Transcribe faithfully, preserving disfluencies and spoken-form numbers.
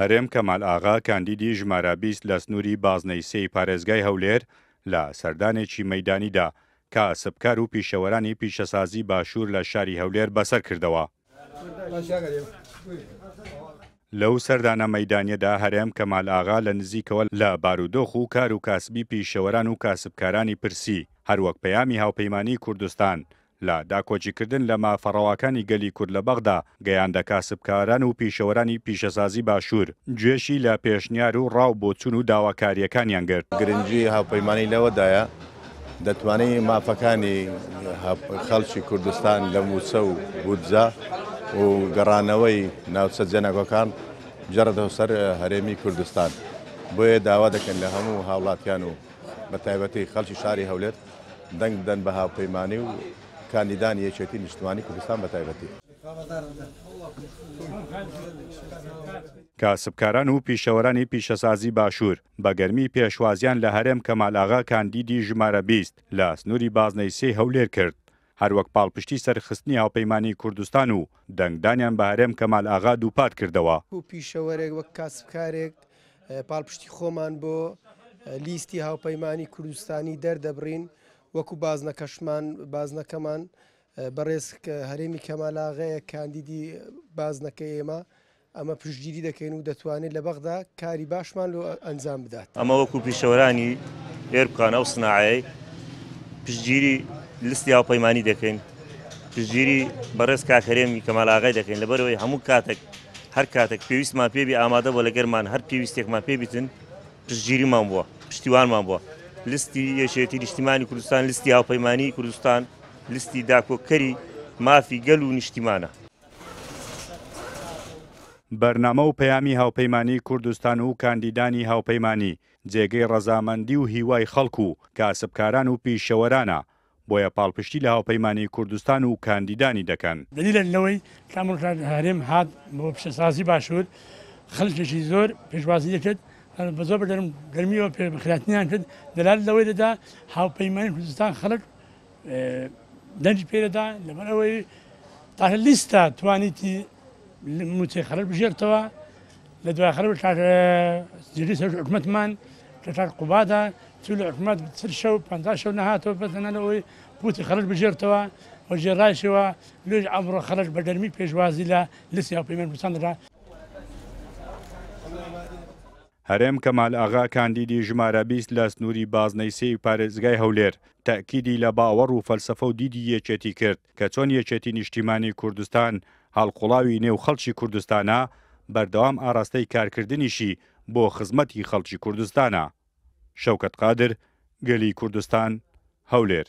هەرێم کەمال ئاغا کاندیدی ژمارە بیست لە سنووری بازنەی سێی پارێزگای هەولێر لە سەردانێکی مەیدانیدا کاسبکار و پیشەوەرانی پیشەسازی باشوور لە شاری هەولێر بەسەر کردەوە. لەو سەردانە مەیدانیەدا هەرێم کەمال ئاغا لە نزیکەوە لە بارودۆخ و کار و کاسبی پیشەوەران و کاسبکارانی پرسی، هەروەک پەیامی هاوپەیمانی کوردستان لە داکۆکیکردن لە مافە ڕەواکانی گەلی کورد لە بەغدا گەیاندە کاسبکاران و پیشەوەرانی پیشەسازی باشوور، گوێشی لە پێشنیار و ڕاو بۆچوون و داواکارییەکانیان گرت. گرنگی هاوپەیمانی لەوەدایە دەتوانێت مافەکانی خەڵکی کوردستان لە مووچە و بودجە و گەڕانەوەی ناوچە جێناکۆکان بگەڕێتەوە سەر هەرێمی کوردستان. بۆیە داوا دەکەن لە هەموو هاوڵاتیان و بە تایبەتی خەڵکی شاری هەولێر دەنگ بدەن بە هاوپەیمانی و کاندیدانی یەکێتی نیشتمانی کوردستان بە تایبەتی. کاسبکاران و پیشەوەرانی پیشەسازی باشوور بە گەرمی پێشوازیان لە هەرێم کەمال ئاغا کاندیدی ژمارە بیست لە سنووری بازنەی سێی هەولێر کرد، هەروەک پاڵپشتی سەرخستنی هاوپەیمانی کوردستان و دەنگدانیان بە هەرێم کەمال ئاغا دووپات کردەوە. و پیشەوەرێک وەک کاسبکارێک پاڵپشتی خۆمان بۆ لیستی هاوپەیمانی کوردستانی دەردەبڕین، وەکو بازنەکەشمان بازنەکەمان بەڕێز هەرێمی کەمال ئاغایە کاندیدی بازنەکە ئێمە ئەمە پشتگیری دەکەین و دەتوانێت لە بەغدا کاری باشمان لۆ ئەنجام بدات. ئەمە وەکو پیشەوەرانی ئێربکانە و سناعەیە پشتگیری لیستی هاوپەیمانی دەکەین، پشتگیری بەڕێز کاک هەرێمی کەمال ئاغای دەکەین، لەبەرەوەی هەموو کاتێک هەر کاتێک پێویستمان پێبی ئامادە بۆ لەگەرمان هەر پێویستێکمان پێبیتن پشتگیریمان بووە، پشتیوانمان بووە. لیستی یەکێتی نیشتیمانی کوردستان، لیستی هاوپەیمانی کوردستان، لیستی داکۆکەری مافی گەل و نیشتیمانە. بەرنامە و پەیامی هاوپەیمانی کوردستان و کاندیدانی هاوپەیمانی جێگەی ڕەزامەندی و هیوای خەڵک و کاسبکاران و پیشەوەرانە، بۆیە پاڵپشتی لە هاوپەیمانی کوردستان و کاندیدانی دەکەن. دلیلە لەوەی کامڕ هەرێم هات بۆ پیشەسازی باشوور خەڵکێکی زۆر پێشوازی دەکرد، بە زۆر بەگەرم گەرمیەوە پێخراتنیان کرد، دەلال لەوەی دەدا هاوپەیمانی کوردستان خەڵک دەنگی پێدەدا، لەبەر ئەوەی تاکە لیستە توانیتی مووچەی خەڵک بژێرتەوە. لە دوای خەڵک جێگری سەرۆکی حکومەتمان کە کاک قوبادە چوو لە حکومەت چل شەو پەنجا شەو نەهاتەوە بەتەنها لەوەی قوتی خەڵک بژێرتەوە و ژێڕایشەوە لێژ ئەمڕۆ خەڵک بە گەرمی پێشوازی لە لیستی هاوپەیمانی کوردستان دەکات. هەرێم کەمال ئاغا کاندیدی ژمارە بیست لە سنووری بازنەی سێی پارێزگای هەولێر تەئکیدی لە باوەڕ و فەلسەفە و دیدی یەکێتی کرد کە چۆن یەکێتی نیشتیمانی کوردستان هەڵقوڵاوی نێو خەڵکی کوردستانە، بەردەوام ئاراستەی کارکردنیشی بۆ خزمەتی خەڵکی کوردستانە. شەوکەت قادر، گەلی کوردستان، هەولێر.